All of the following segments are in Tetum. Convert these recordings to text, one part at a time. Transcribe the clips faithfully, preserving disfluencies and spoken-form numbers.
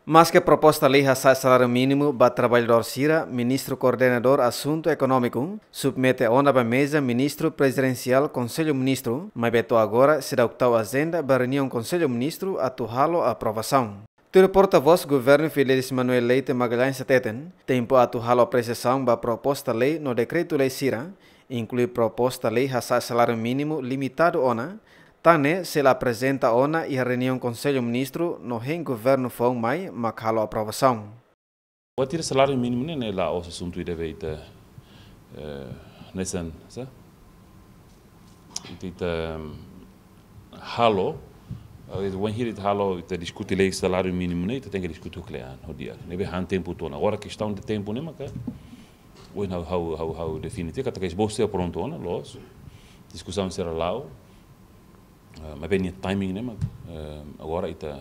Maske proposta lei hasa'e saláriu mínimu ba traballadór sira, Ministru Koordenadór Asuntu Ekonómiku submete ona ba meza Ministru Prezidensiál Konsellu Ministru, maibé to'o agora seidauk tau ajenda ba reuniaun Konsellu Ministru atu halo aprovasaun. Tuir portavós governu Fidelis Manuel Leite Magalhães hateten, tempu atu halo apresiasaun ba proposta lei no dekretu-lei sira, inklui proposta lei hasa'e saláriu mínimu limitadu ona, tan ne'e sei la aprezenta ona iha reuniaun Konsellu Ministru no hein governu foun mai mak halo aprovasaun. Buat ida saláriu mínimu ne'e, ne'e la'ós asuntu ida be ita, eh, hanesan, sá? Ita, ita, halo, eh, wainhira ita halo, ita diskute lei saláriu mínimu ne'e, ita tenke diskute ho kle'an, ho di'ak. Ne'ebé han tempu to'o ona. Agora kestaun de tempu ne'e maka, ohin ha'u, ha'u, ha'u, ha'u define tiha katak esbosu sira prontu ona, loos. Diskusaun sira la'o. Eh, maibé nia timing ne'e mak, eh, agora ita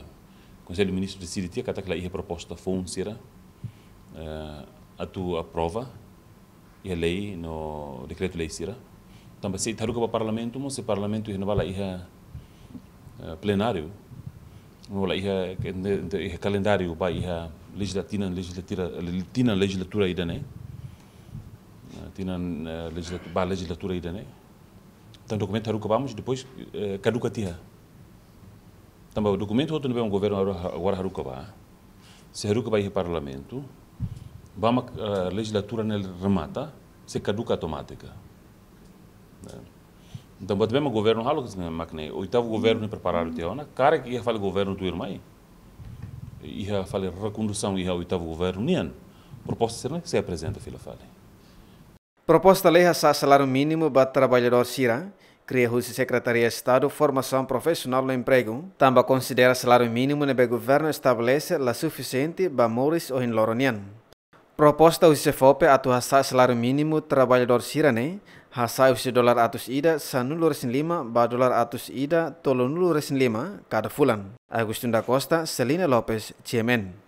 Konsellu Ministru deside tiha katak la iha proposta foun sira, eh, atu aprova iha lei no dekretu-lei sira. Tanba se ita haruka ba Parlamentu mós, se Parlamentu iha ne'ebá la iha, eh, plenáriu, no la iha, iha kalendáriu ba iha lejizla-, tinan lejizlatura, tinan lejizlatura ida-ne'e. Eh, tinan, eh, lejizlatu-, ba lejizlatura ida-ne'e. Entaun dokumentu haruka ba mós, depois, eh, kaduka tiha. Tanba dokumentu hotu ne'ebé governu agora, agora haruka ba, se haruka ba iha Parlamentu, ba mak, eh, lejizlatura ne'e remata, sei kaduka automátika. Eh, entaun, buat ne'ebé governu halo, mak ne'e, oitavu governu ne'e preparadu tiha ona, karik iha fali governu tuirmai, iha fali rekondusaun iha oitavu governu nian, proposta sira-ne'e sei aprezenta fila fali. Proposta lei hasa'e saláriu mínimu ba traballadór sira kria husi Sekretaria Estadu Formasaun Profisionál no Empregu, tanba konsidera saláriu mínimu ne'ebé governu estabelese la sufisiente ba moris ohin loron nian. Proposta husi SEFOPE atu hasa'e saláriu mínimu traballadór sira-ne'e hasa'e husi dolar atus ida sanulu-resin-lima ba dolar atus ida tolunulu-resin-lima kada fulan. Agostinho da Costa, Celina Lopes, G M N.